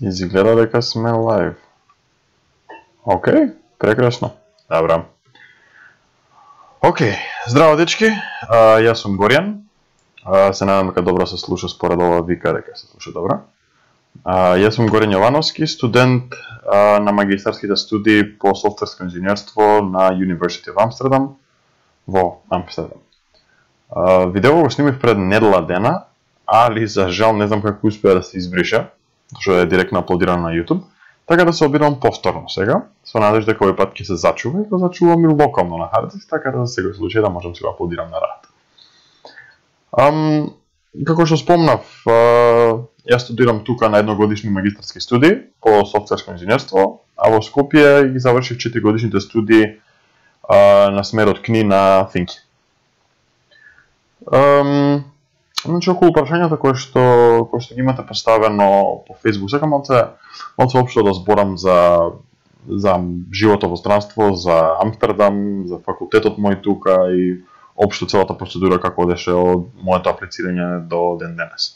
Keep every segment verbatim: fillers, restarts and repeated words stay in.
Изгледа дека сме лайв. Океј, прекрасно. Добра. Океј, здраво дечки, а, јас сум Горијан. А, се надам дека добро се слуша според ова вика дека се слуша добро. А, јас сум Горијан Јовановски, студент а, на магистарските студии по софтверско инженерство на University of Amsterdam во Амстердам. А, видео го снимив пред недела дена, али за жал не знам како успеа да се избриша, што е директно аплодирано на YouTube, така да се обидам повторно сега, со надежда дека овој пат ќе се зачува и да зачувам и локално на харддиск, така да за секој случај да можам да го аплодирам на работа. Ам, како што спомнав, јас студирам тука на едногодишни магистарски студии по софтверско инженерство, а во Скопје ги завршив четири годишните студии а, на смерот КНИ на Финки. Ам, Значи, околу прашањата кои што, кои што ги имате поставено по Facebook, сакам малце, малце општо да зборам за, за живото во странство, за Амстердам, за факултетот мој тука и општо целата процедура како одеше од моето аплицирање до ден денес.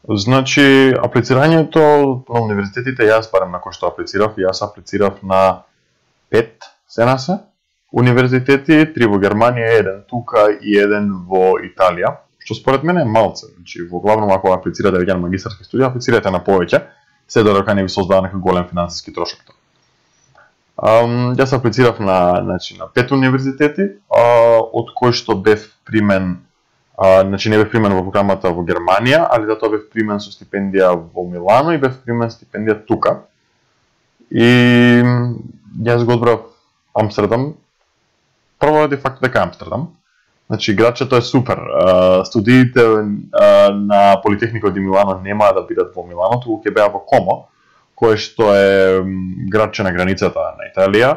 Значи, аплицирањето на универзитетите, јас барем на кој што аплицирав, јас аплицирав на пет, сена се, универзитети, три во Германија, еден тука и еден во Италија. Што според мене е малце, значи во главно ако аплицирате веќе на магистарски студии, аплицирате на повеќе, се додека не ви создава некој голем финансиски трошок. Um, јас аплицирав на, значи, на пет универзитети, а, од кои што бев примен, а, значи не бев примен во програмата во Германија, али затоа бев примен со стипендија во Милано и бев примен стипендија тука. И јас го одбрав Амстердам, прво ради факт дека Амстердам. Значи, градчето е супер. Студиите на Политехникот di Милано нема да бидат во Милано, туку ќе беа во Комо, кое што е градче на границата на Италија.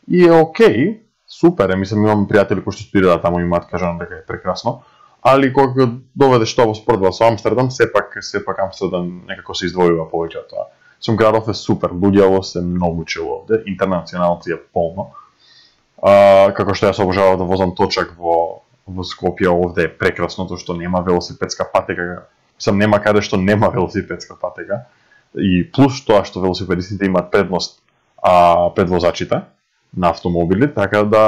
И е окей, супер е, мислам, имам пријатели кои што студираат таму, имаат кажано дека е прекрасно. Али кога доведеш тоа во споредба со Амстердам, сепак сепак Амстердам некако се издвојува повеќе од тоа. Сум градов е супер, луѓето се многу чело овде, интернационалци е полно. А, како што јас обожавам да возам точак во во Скопје, овде е прекрасно, тоа што нема велосипедска патека, мислам нема каде што нема велосипедска патека, и плюс тоа што велосипедистите имаат предност а, пред возачите на автомобили, така да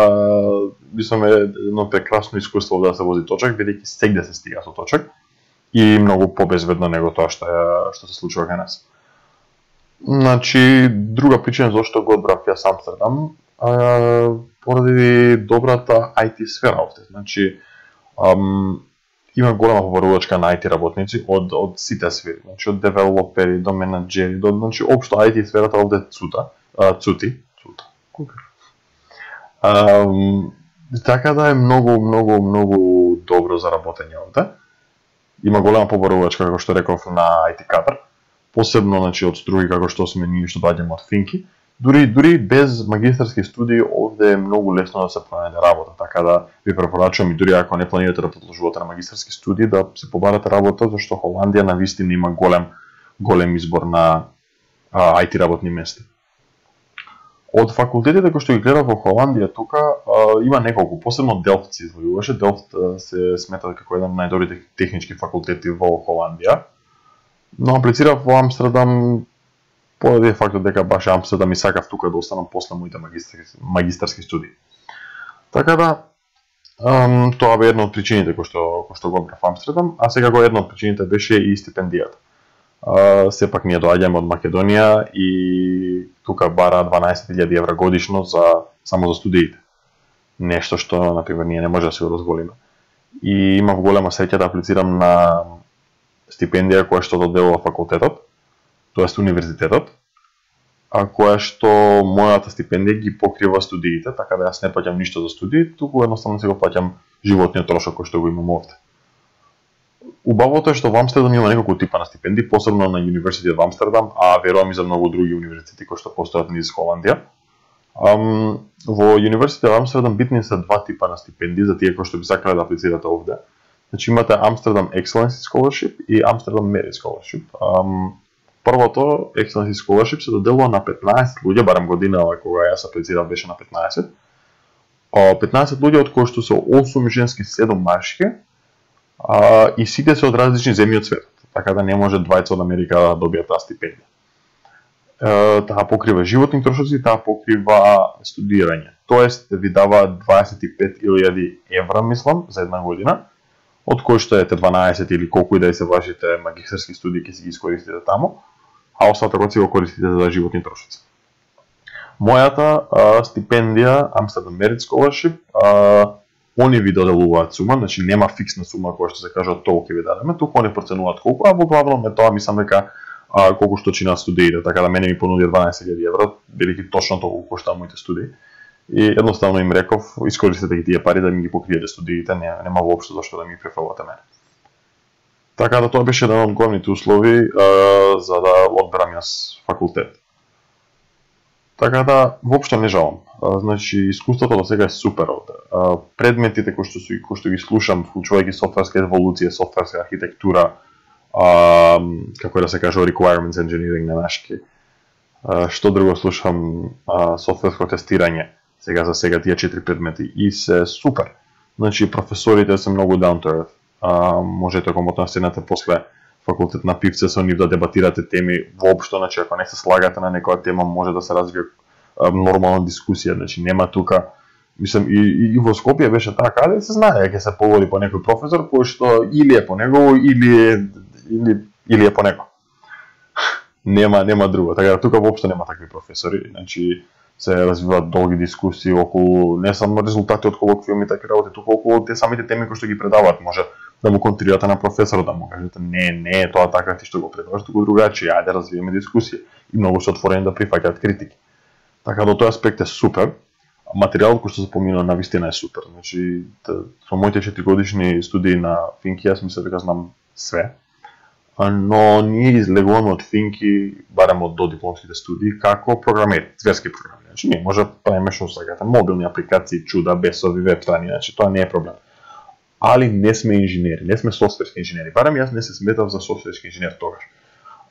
мислам е едно прекрасно искуство да се вози точак, бидејќи сегде се стига со точак и многу побезбедно него тоа што е, што се случува кај нас. Значи, друга причина зашто го одбрав јас Амстердам, Uh, поради добрата ай ти сфера овде. Значи, um, има голема побарувачка на ай ти работници од од сите сфери, значи од девелопери до менаџери, до значи општо ай ти сферата овде цута, uh, цути, цута. Um, така да е многу многу многу добро за работење овде. Има голема побарувачка како што реков на ай ти кадар, посебно значи од струги како што сме ние што доаѓаме од Финки. Дури дури без магистарски студии овде е многу лесно да се пронајде работа, така да ви препорачувам и дури ако не планирате да продолжувате на магистарски студии да се побарате работа, зашто Холандија навистина има голем голем избор на а, ай ти работни места. Од факултетите кои што ги гледав во Холандија тука а, има неколку, посебно Делфт се извојуваше. Делфт се смета како еден од најдобрите технички факултети во Холандија. Но аплицирав во Амстердам поради фактот дека баш Амстердам и сакав тука да останам после моите магистарски, магистарски студии. Така да, ам, тоа бе една од причините кои што, кои што го одбрав Амстердам, а сега го една од причините беше и стипендијата. А, сепак ние доаѓаме од Македонија и тука бара дванаесет илјади евра годишно за само за студиите. Нешто што, например, ние не може да се го дозволиме. И имав голема среќа да аплицирам на стипендија која што доделува факултетот, тоест универзитетот, а која што мојата стипендија ги покрива студиите, така да јас не плаќам ништо за студии, туку едноставно се го плаќам животниот трошок кој што го имам овде. Убавото е што во Амстердам има неколку типа на стипендии, посебно на University of Amsterdam, а верувам и за многу други универзитети кои што постојат низ Холандија. Um, во University of Amsterdam битни се два типа на стипендии за тие кои што би сакале да аплицирате овде. Значи имате Amsterdam Excellency Scholarship и Amsterdam Merit Scholarship. Um, Првото, Excellency Scholarship, се доделува на петнаесет луѓе, барем годинава кога јас аплицирав беше на петнаесет. петнаесет луѓе од кои што се осум женски, седум машки, а, и сите се од различни земји од светот, така да не може двајца од Америка да добијат таа стипендија. таа покрива животни трошоци, таа покрива студирање. Тоест ви дава дваесет и пет илјади евра, мислам, за една година, од кои што ете дванаесет или колку и да се вашите магистерски студии ќе си ги искористите таму, а остатокот си го користите за животни трошоци. Мојата а, стипендија Amsterdam Merit Scholarship, а, они ви доделуваат сума, значи нема фиксна сума која што се кажа толку ќе ви дадеме, туку они проценуваат колку, а во главном е тоа мислам дека а, колку што чина студиите, така да мене ми понуди дванаесет илјади евра, бидејќи точно толку коштаа моите студии. И едноставно им реков, искористете ги тие пари да ми ги покриете студиите, не, нема воопшто зашто да ми префалувате мене. Така да тоа беше еден од главните услови а, за да одберам јас факултет. Така да воопшто не жалам. А, значи искуството до сега е супер овде. А, предметите кои што кои што ги слушам, вклучувајќи софтверска еволуција, софтверска архитектура, а, како да се каже requirements engineering на нашки. А, што друго слушам, а, софтверско тестирање. Сега за сега тие четири предмети и се супер. Значи професорите се многу down to earth. А, можете комотно да седнете после факултет на пивце со нив да дебатирате теми воопшто, значи ако не се слагате на некоја тема може да се развие а, нормална дискусија, значи нема тука, мислам и, и, и во Скопје беше така, да се знае дека се поговори по некој професор кој што или е по него или или или е по него. нема нема друго, така да тука воопшто нема такви професори, значи се развиваат долги дискусии околу не само резултати од колоквиуми и такви работи, туку околу те самите теми кои што ги предаваат. Може да му контрирате на професорот, да му кажете не, не е тоа така ти што го предаваш, туку другачи, ајде да развиеме дискусија. И многу се отворени да прифаќаат критики. Така до тој аспект е супер. Материјалот кој што се поминува на вистина е супер. Значи, со моите четиригодишни студии на Финки, јас мислам дека знам све. Но ние излегуваме од Финки, барем од додипломските студии, како програмери, зверски програми. Значи, ние може да правиме што сакате, мобилни апликации, чуда, бесови, веб-страни, значи тоа не е проблем. Али не сме инженери, не сме софтверски инженери. Барем јас не се сметав за софтверски инженер тогаш.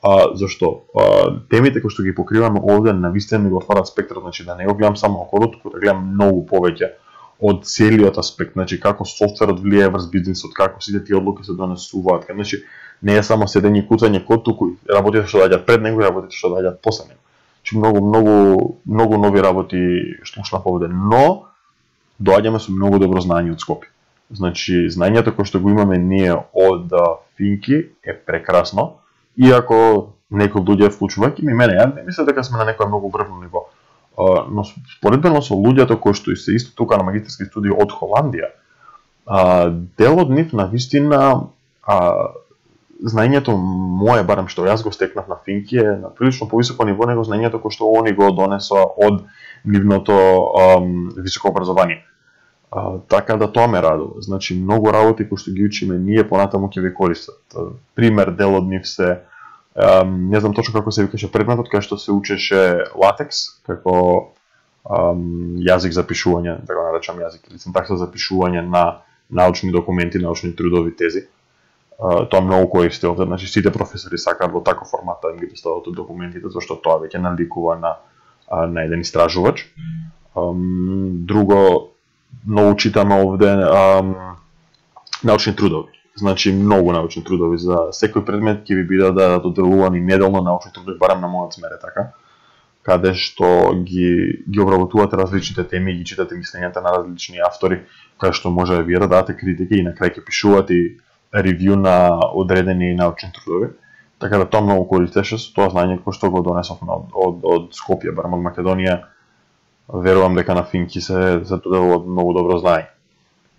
А, зашто? А, темите кои што ги покриваме овде навистина ми го отварат спектрот, значи да не го гледам само околу, туку да гледам многу повеќе од целиот аспект, значи како софтверот влијае врз бизнисот, како сите тие одлуки се донесуваат, значи не е само седење и куцање код, туку работите што доаѓаат пред него и работите што доаѓаат после него. Значи многу многу многу нови работи што слушнав овде, но доаѓаме со многу добро знаење од Скопје. Значи знаењето кое што го имаме ние од Финки е прекрасно, иако некои луѓе вклучувајќи ми мене, ја не мислам дека сме на некој многу врвно ниво. Но споредбено со луѓето кои што се исто тука на магистерски студии од Холандија, дел од нив на вистина знаењето мое, барем што јас го стекнав на Финки, е на прилично повисоко ниво него знаењето кој што они го донесоа од нивното um, високо образование. Uh, така да тоа ме радува. Значи многу работи кои што ги учиме ние понатаму ќе ви користат. Uh, пример дел од нив се um, не знам точно како се викаше предметот, кај што се учеше латекс како um, јазик за пишување, така наречам јазик или синтакса за пишување на научни документи, научни трудови, тези. Uh, тоа многу користи овде, значи сите професори сакаат во таков формат да им ги достават документите, зашто тоа веќе наликува на uh, на еден истражувач. Um, друго многу читаме овде um, научни трудови. Значи многу научни трудови за секој предмет ќе ви бидат да доделувани неделно научни трудови, барем на мојот смер е така, каде што ги ги обработувате различните теми и ги читате мислењата на различни автори, каде што може да вие да дадете критики и на крај ќе пишувате ревју на одредени научни трудови. Така да тоа многу користеше со тоа знаење кој што го донесов од, од, од Скопје, барем од Македонија. Верувам дека на Финки се се доделува многу добро знаење.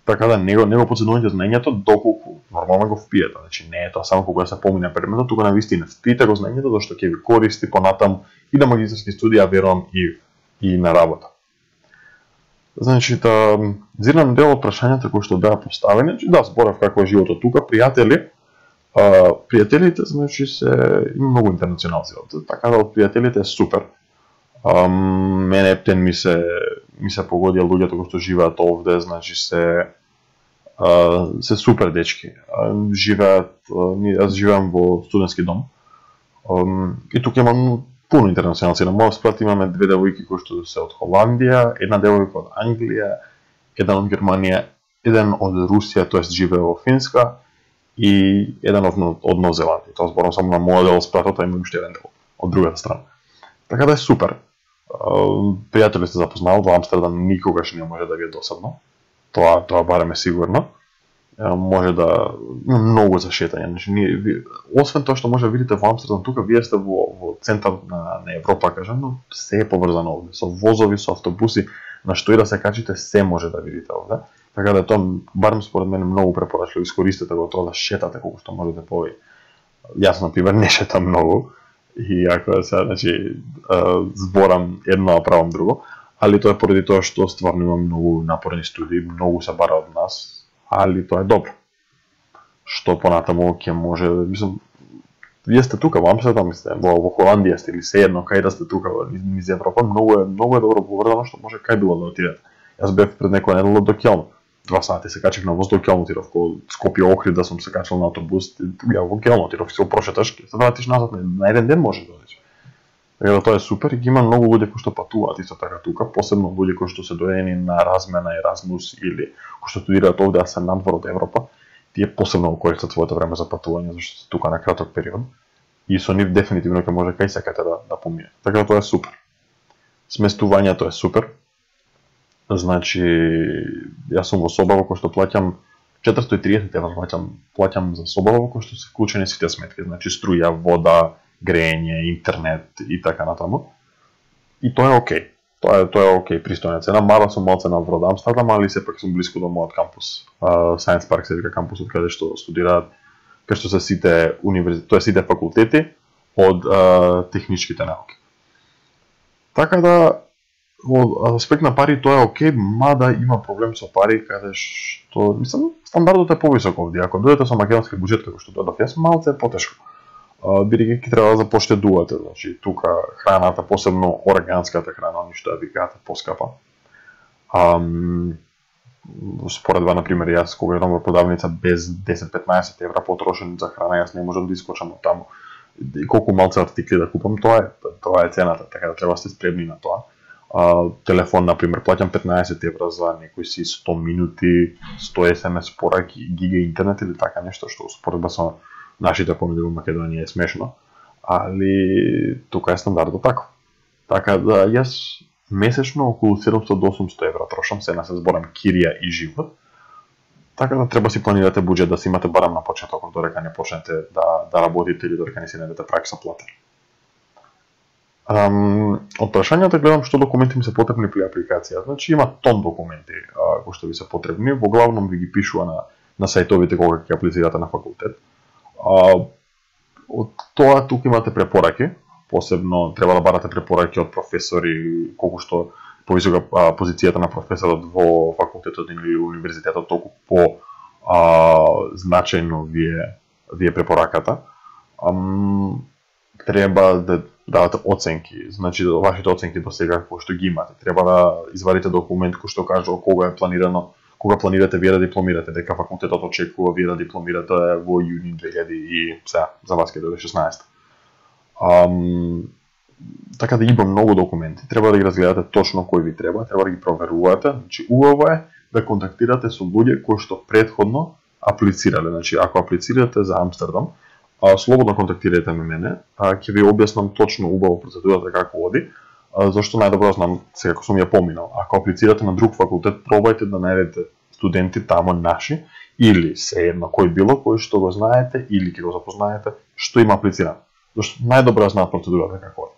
Така да него него подценување знаењето доколку нормално го впиете. Значи не е тоа само кога се помине предметот, тука на вистина впиете го знаењето зашто ќе ви користи понатаму и на магистерски студии, а верувам и и на работа. Значи да зирнам дел од прашањата кои што беа поставени, значи да зборав како е животот тука, пријатели. А, пријателите значи се има многу интернационалци овде, така да од пријателите е супер. Um, мене ептен ми се ми се погодија луѓето кои што живеат овде, значи се uh, се супер дечки. Uh, живеат, uh, јас живеам во студентски дом. Um, и тука имам пуно интернационалци. На мојот спрат имаме две девојки кои што се од Холандија, една девојка од Англија, еден од Германија, еден од Русија, тоест живее во Финска и еден од од Нов Зеландија. Тоа зборам само на мојот дел спратот, а има уште еден дел од другата страна. Така да е супер. Пријатели сте запознал во Амстердам, никогаш не може да ви е досадно. Тоа тоа барем е сигурно. Може да многу за шетање. Значи ние освен тоа што може да видите во Амстердам, тука вие сте во во центар на на Европа, кажам, но се е поврзано овде со возови, со автобуси, на што и да се качите, се може да видите овде. Така да тоа барем според мене многу препорачливо, искористете го тоа да шетате колку што можете повеќе. Јас на пример не шетам многу и ако се значи зборам едно, а правам друго, али тоа е поради тоа што стварно има многу напорни студии, многу се бара од нас, али тоа е добро. Што понатаму ќе може, мислам, вие сте тука во Амстердам, сте во, во Холандија сте или се едно кај да сте тука низ Европа, многу е многу е добро поврзано што може кај било да отидете. Јас бев пред некоја недела до Ќелн. Два сати се качев на воз до Ќелн, отидов ко Скопје Охрид да сум се качил на автобус, ја во Ќелн отидов, се прошеташ, се вратиш назад на еден ден може да одиш. Така да тоа е супер и ги има многу луѓе кои што патуваат исто така тука, посебно луѓе кои што се доедени на размена Еразмус или кои што студираат овде а се надвор од Европа, тие посебно го користат своето време за патување зашто се тука на краток период и со нив дефинитивно ќе може кај сакате да да помине. Така да тоа е супер. Сместувањето е супер. Значи, јас сум во соба во кој што плаќам четиристотини и триесет евра плаќам, плаќам за соба во кој што се вклучени сите сметки, значи струја, вода, грејење, интернет и така натаму. И тоа е окей. Тоа е тоа е окей, пристојна цена, мала сум малце на од Амстердам, али сепак сум блиску до мојот кампус. Uh, Science Park се вика кампусот каде што студираат, каде што се сите универзитети, тоа сите факултети од uh, техничките науки. Така да во аспект на пари тоа е окей, мада има проблем со пари каде што, мислам, стандардот е повисок овде. Ако дојдете со македонски буџет како што дојдов јас, малце е потешко. Бидејќи ќе треба да запоштедувате, значи тука храната, посебно органската храна, ништо ја викаат поскапа. Ам споредба на пример јас кога едам во продавница без десет до петнаесет евра потрошен за храна, јас не можам да искочам од таму. И колку малце артикли да купам, тоа е тоа е цената, така да треба да сте спремни на тоа. Uh, телефон, например, плаќам петнаесет евра за некои си сто минути, сто ес ем ес пораки, гига интернет или така нешто, што споредба со нашите понуди во Македонија е смешно, али тука е стандардот тако. Така да јас месечно околу седумстотини до осумстотини евра трошам, се на се зборам кирија и живот. Така да треба си планирате буџет да си имате барем на почетокот додека не почнете да да работите или додека не си најдете пракса плата. Um, од прашањата гледам што документи ми се потребни при апликација. Значи има тон документи а, кои што ви се потребни, во главном ви ги пишува на на сајтовите кога ќе аплицирате на факултет. А, од тоа тука имате препораки, посебно треба да барате препораки од професори, колку што повисока а, позицијата на професорот во факултетот или универзитетот, толку по а, значајно ви е ви е препораката. Ам, треба да давате оценки, значи вашите оценки до сега кои што ги имате. Треба да извадите документ кој што кажува кога е планирано, кога планирате вие да дипломирате, дека факултетот очекува вие да дипломирате во јуни две илјади и сега за вас ќе дојде шеснаесет. Ам, така да има многу документи, треба да ги разгледате точно кои ви треба, треба да ги проверувате. Значи убаво е да контактирате со луѓе кои што претходно аплицирале. Значи ако аплицирате за Амстердам, А, слободно контактирате ме мене, а, ќе ви објаснам точно убаво процедурата како оди, а, зашто најдобро знам сега како сум ја поминал. Ако аплицирате на друг факултет, пробајте да најдете студенти тамо наши или се едно кој било кој што го знаете или ќе го запознаете што има аплицирано. Зашто најдобро знаат процедурата како оди.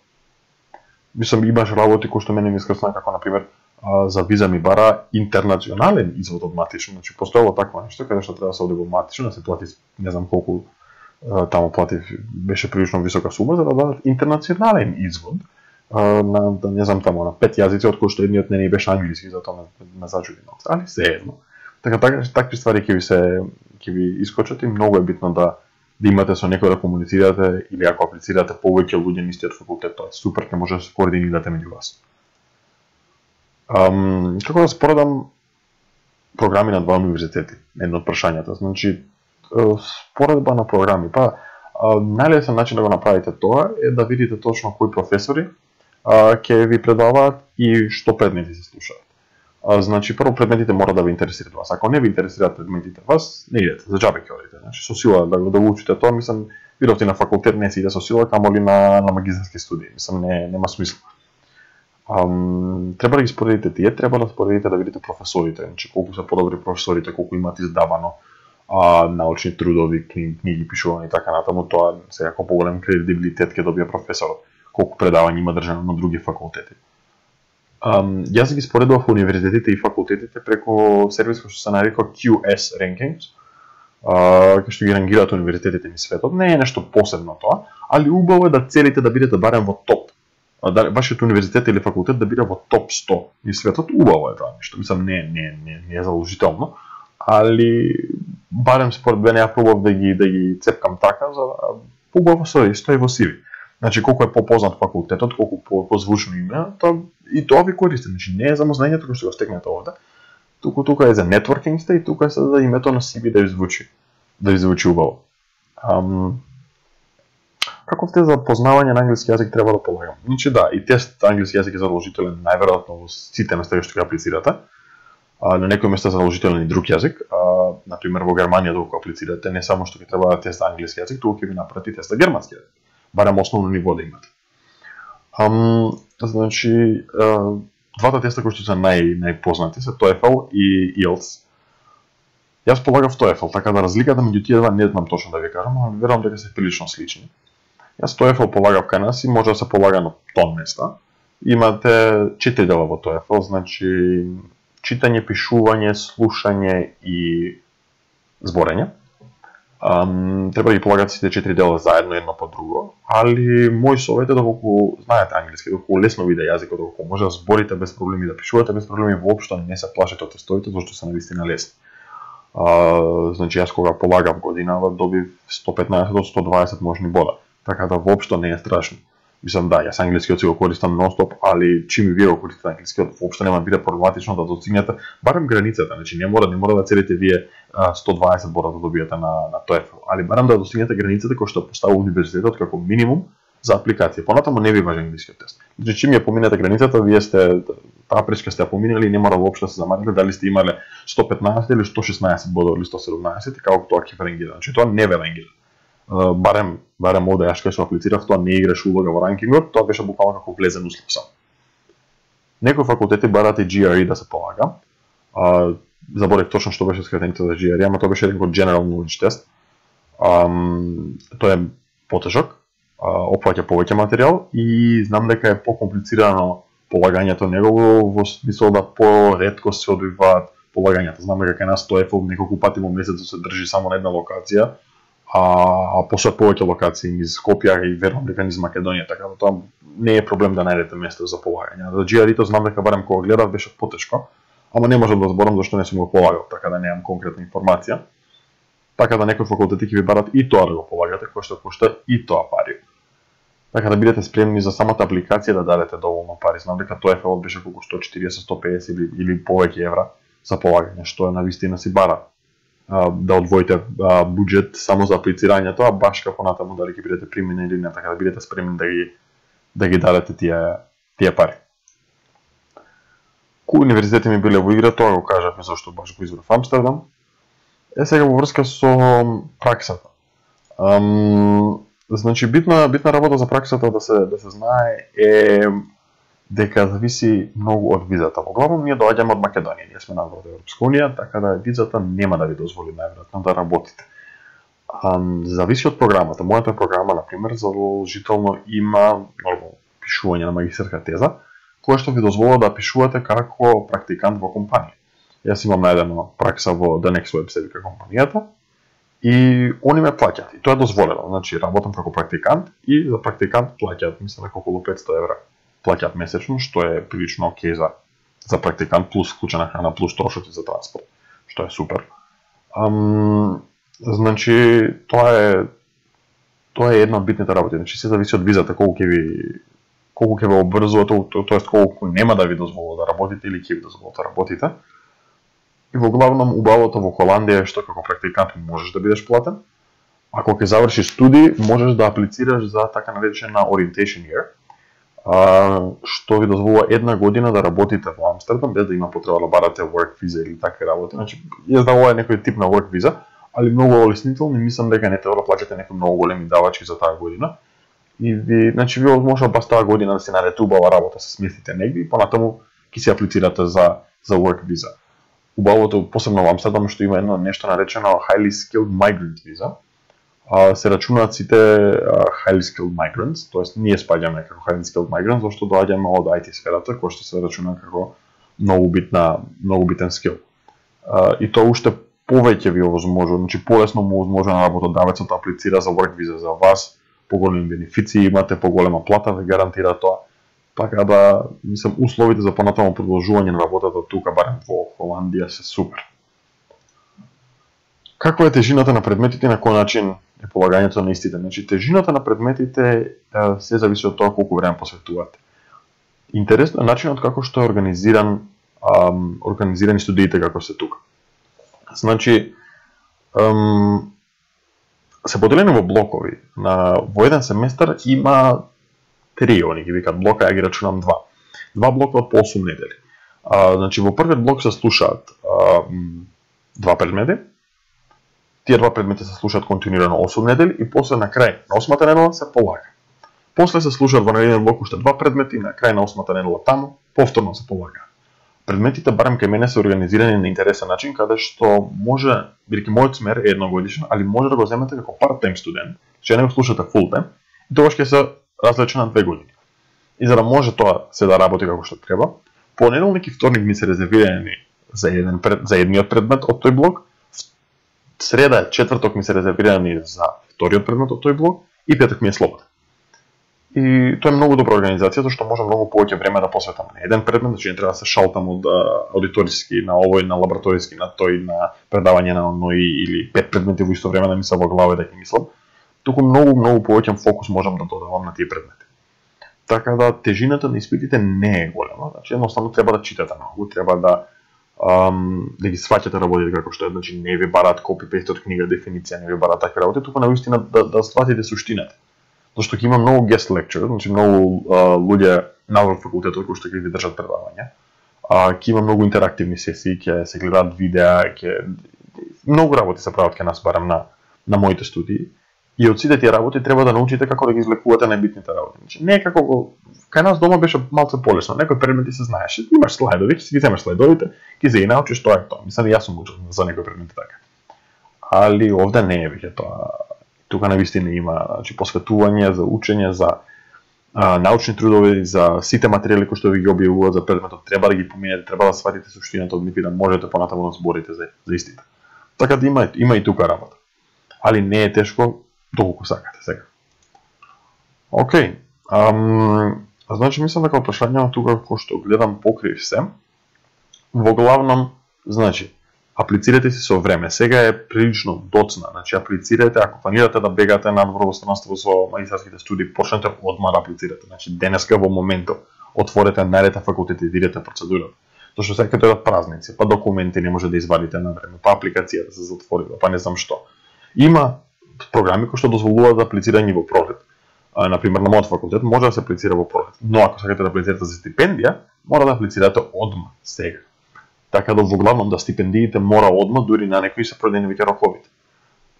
Мислам имаш работи кои што мене ми искрсна како на пример а, за виза ми бара интернационален извод од матично, значи постоело такво нешто каде што треба да се оди во матично, да се плати не знам колку таму платив, беше прилично висока сума за да дадат интернационален извод на, да не знам таму, на пет јазици, од кои што едниот не ни беше англиски, затоа ме, ме зачуди малку, али се едно. Така, така, такви ствари ќе ви се, ќе ви искочат и многу е битно да, да имате со некој да комуницирате или ако аплицирате повеќе луѓе на истиот факултет, тоа е супер, ќе може да се координирате меѓу вас. Um, како да споредам програми на два универзитети, едно од прашањата, значи споредба на програми. Па, најлесен начин да го направите тоа е да видите точно кои професори а, ќе ви предаваат и што предмети се слушаат. А, значи, прво предметите мора да ви интересираат вас. Ако не ви интересираат предметите вас, не идете, за џабе ќе одите. Значи, со сила да го да учите тоа, мислам, Бидов ти на факултет не си иде со сила, камоли на, на магистарски студии. Мислам, не, нема смисла. Um, треба да ги споредите тие, треба да споредите да видите професорите, значи колку се подобри професорите, колку имаат издавано а, научни трудови, книги, книги пишувани и така натаму, тоа секако поголем кредибилитет ќе добие професорот, колку предавања има држано на други факултети. Um, јас ги споредував универзитетите и факултетите преко сервис кој што се нарекува Q S Rankings, uh, кај што ги рангираат универзитетите низ светот. Не е нешто посебно тоа, али убаво е да целите да бидете барем во топ. Да, вашиот универзитет или факултет да биде во топ сто низ светот, убаво е тоа нешто. Мислам, не, не, не, не е задолжително, али барем според мене ја пробав да ги да ги цепкам така за да убаво стои, стои во си ви. Значи колку е попознат факултетот, колку по, позвучно име, тоа и тоа ви користи. Значи не е за знаењето кој што го стекнете овде. Туку тука е за нетворкингста и тука е за името на си ви да ви звучи, да ви звучи убаво. Um, Каков тест за познавање на англиски јазик треба да полагам? Значи да, и тест англиски јазик е задолжителен најверојатно во сите места што ќе аплицирате. А, на некои места е задолжителен и друг јазик. А, например во Германија докато аплицирате, не само што ќе треба да тест англиски јазик, туку ќе ви направи тест за германски јазик. Барем основно ниво да имате. Ам, значи, а, двата теста кои што се нај најпознати се TOEFL и I E L T S. Јас полагав TOEFL, така да разликата меѓу тие два не знам точно да ви кажам, но верувам дека се прилично слични. Јас TOEFL полагав кај нас и може да се полага на тон места. Имате четири дела во TOEFL, значи читање, пишување, слушање и зборење. Um, треба да ги полагате сите четири дела заедно едно по друго, али мој совет е доколку знаете англиски, доколку лесно ви иде јазикот, доколку може да зборите без проблеми, да пишувате без проблеми, воопшто не се плашете од тестовите, зашто се навистина лесни. Uh, значи јас кога полагав годинава добив сто петнаесет од сто дваесет можни бода. Така да воопшто не е страшно. Мислам да, јас англискиот си го користам нон-стоп, али чим и вие го користите англискиот, воопшто нема да биде проблематично да достигнете барем границата, значи не мора не мора да целите вие сто дваесет бода да добиете на на TOEFL, али барем да достигнете границата која што поставува универзитетот како минимум за апликација. Понатаму не ви важи англискиот тест. Значи чим ја поминете границата, вие сте таа пречка сте ја поминали и не мора воопшто да се замарите дали сте имале сто петнаесет или сто шеснаесет бода или сто седумнаесет, како тоа ќе рангира. Значи тоа не ве рангира. Uh, барем, барем овде јас кога се аплицирав, тоа не играш улога во ранкингот, тоа беше буквално како влезен услов сам. Некои факултети бараат и G R E да се полага. Uh, заборев точно што беше скратеницата за G R E, ама тоа беше еден General Knowledge тест. Um, тој е потежок, uh, опфаќа повеќе материјал и знам дека е покомплицирано полагањето негово во смисол да поретко се одвиваат полагањата. Знам дека кај нас TOEFL неколку пати во месецот се држи само на една локација, а, а после повеќе локации низ Скопје и верувам дека низ Македонија, така да тоа не е проблем да најдете место за полагање. За G R E-то знам дека барем кога гледав беше потешко, ама не можам да зборам зашто не сум го полагал, така да немам конкретна информација. Така да некои факултети ќе ви барат и тоа да го полагате, кој што кошта и тоа пари. Така да бидете спремни за самата апликација да дадете доволно пари. Знам дека TOEFL беше колку сто четириесет до сто педесет или, или повеќе евра за полагање, што е навистина си бара. Да одвоите буџет само за аплицирањето, а баш како натаму дали ќе бидете примени или не, така да бидете спремни да ги да ги дадете тие тие пари. Кои универзитети ми биле во игра, тоа го кажавме зашто баш го избрав Амстердам. Е сега во врска со праксата. Ам, значи битна битна работа за праксата да се да се знае е дека зависи многу од визата. Во главно ние доаѓаме од Македонија, ние сме надвор од Европска унија, така да визата нема да ви дозволи најверојатно да работите. Um, зависи од програмата. Мојата програма, например, задолжително има пишување на магистарска теза, која што ви дозволува да пишувате како практикант во компанија. Јас имам најдено пракса во The Next Web, се вика компанијата, и они ме плаќаат. И тоа е дозволено. Значи, работам како практикант и за практикант плаќаат, мислам, околу петсто евра. Плаќаат месечно, што е прилично окей за за практикант, плюс вклучена храна, плюс трошоци за транспорт, што е супер. Ам, значи, тоа е тоа е една од битните работи. Значи, се зависи од визата, колку ќе ви колку ќе ве обврзува, тоест колку нема да ви дозволува да работите или ќе ви дозволува да работите. И во главном убавото во Холандија е што како практикант можеш да бидеш платен. Ако ќе завршиш студии, можеш да аплицираш за така наречена orientation year, Uh, што ви дозволува една година да работите во Амстердам без да има потреба да барате work visa или такви работи. Значи, јас да ова е некој тип на work visa, али многу олеснително и мислам дека не треба да плаќате некои многу големи давачки за таа година. И ви, значи ви може бас таа година да се наредите убава работа, се сместите негде и понатаму ќе се аплицирате за за work visa. Убавото посебно во Амстердам што има едно нешто наречено highly skilled migrant visa. А, се рачунаат сите uh, highly skilled migrants, тоест ние спаѓаме како highly skilled migrants, зашто доаѓаме од ай ти сферата, која што се рачуна како многу битна, многу битен скил. Uh, и тоа уште повеќе ви овозможува, значи полесно му овозможува на работодавецот да аплицира за work visa за вас, поголеми бенефиции имате, поголема плата ве гарантира тоа. Така да, мислам, условите за понатаму продолжување на работата тука, барем во Холандија, се супер. Каква е тежината на предметите и на кој начин е полагањето на истите? Значи, тежината на предметите се зависи од тоа колку време посветувате. Интересно е начинот како што е организиран, ам, организирани студиите како се тука. Значи, ам, се поделени во блокови. На, во еден семестар има три, они ги викаат блока, ја ги рачунам два. Два блока од по осум недели. А, значи, во првиот блок се слушаат а, два предмети. Тие два предмети се слушаат континуирано осум недели и после на крај на осмата недела се полага. После се слушаат во наредниот блок уште два предмети и на крај на осмата недела таму повторно се полага. Предметите барем кај мене се организирани на интересен начин, каде што може, бидејќи мојот смер е едногодишен, али може да го земете како part-time студент, че не го слушате full-time, и тогаш ќе се различи на две години. И за да може тоа се да работи како што треба, понеделник и вторник ми се резервирани за еден пред, за едниот предмет од тој блок, среда и четврток ми се резервирани за вториот предмет од тој блок и петок ми е слободен. И тоа е многу добра организација, зашто може многу повеќе време да посветам на еден предмет, значи не треба да се шалтам од аудиториски на овој, на лабораториски, на тој, на предавање на оној или пет предмети во исто време да ми се во глава и да ги мислам. Туку многу, многу повеќен фокус можам да додавам на тие предмети. Така да тежината на испитите не е голема, значи едноставно треба да читате многу, треба да um, да ги сваќате работите како што е, значи не ви бараат копи-пейст од книга, дефиниција, не ви бараат такви работи, туку навистина да да сватите суштината. Зашто ќе има многу guest lecture, значи многу uh, луѓе на факултетот кои што ќе ви држат предавања. А ќе има многу интерактивни сесии, ќе се гледаат видеа, ќе многу работи се прават кај нас барем на на моите студии. И од сите тие работи треба да научите како да ги извлекувате најбитните работи. Значи не е како кај нас дома беше малку полесно, некои предмети се знаеше, имаш слайдови, ќе си ги земеш слайдовите, ќе се ги научиш, тоа е тоа. Мислам јас сум учел за некои предмети така. Али овде не е веќе тоа. Тука навистина има, значи посветување за учење, за а, научни трудови, за сите материјали кои што ви ги објавуваат за предметот, треба да ги поминете, треба да сватите суштината од нив и да можете понатаму да зборите за, за истите. Така да има, има и тука работа. Али не е тешко доколку сакате сега. Океј. Ам, значи мислам дека прашањето тука кој што гледам покрив се. Во главном, значи аплицирате си со време. Сега е прилично доцна, значи аплицирате, ако планирате да бегате надвор во странство со магистарските студии, почнете одма да аплицирате. Значи денеска во моментот отворете најдете факултет и видите процедурата. Зашто сега ќе дојдат празници, па документи не може да извадите на време, па апликацијата се затворила, па не знам што. Има програми кои што дозволуваат да аплицирање во пролет. А, например, на мојот факултет може да се аплицира во пролет, но ако сакате да аплицирате за стипендија, мора да аплицирате одма, сега. Така да во главном да стипендиите мора одма, дури на некои се продени веќе роковите.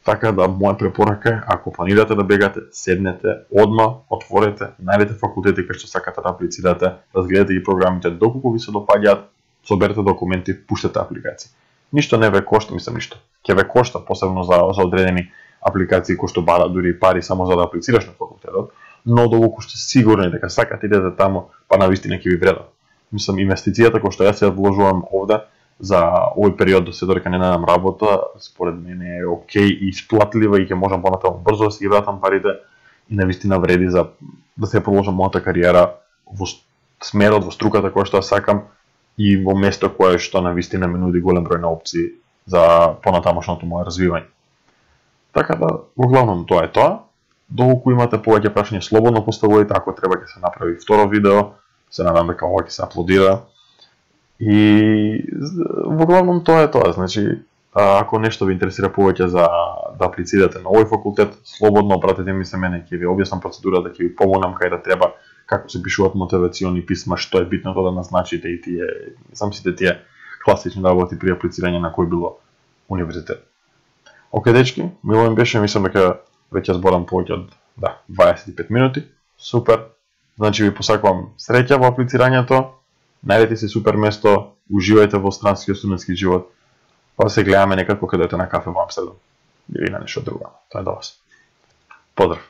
Така да моја препорака е, ако планирате да бегате, седнете одма, отворете, најдете факултети кај што сакате да аплицирате, разгледате ги програмите доколку ви се допаѓаат, соберете документи, пуштете апликации. Ништо не ве кошта, мислам ништо. Ќе ве кошта посебно за за одредени апликации кои што бараат дури пари само за да аплицираш на факултетот, но доколку сте сигурни дека сакате идете таму, па навистина ќе ви вредат. Мислам, инвестицијата која што јас ја вложувам овде за овој период до се додека не најдам работа, според мене е окей и исплатлива и ќе можам понатаму брзо да си ги вратам парите и навистина вреди за да се продолжам мојата кариера во смерот, во струката која што ја сакам и во место кое што навистина ме нуди голем број на опции за понатамошното моје развивање. Така да, во главном тоа е тоа. Доколку имате повеќе прашања, слободно поставувајте, ако треба ќе се направи второ видео, се надам дека ова ќе се аплодира. И во главном тоа е тоа, значи ако нешто ви интересира повеќе за да аплицирате на овој факултет, слободно обратете ми се мене, ќе ви објаснам процедурата, ќе ви помогнам кај да треба, како се пишуваат мотивациони писма, што е битното да назначите и тие, сам сите тие класични работи при аплицирање на кој било универзитет. Оке, дечки, мило ми беше, мислам дека веќе зборам повеќе од да, дваесет и пет минути. Супер. Значи ви посакувам среќа во аплицирањето. Најдете си супер место, уживајте во странскиот студентски живот. Па се гледаме некако кога дојдете на кафе во Амстердам или на нешто друго. Тоа е до вас. Поздрав.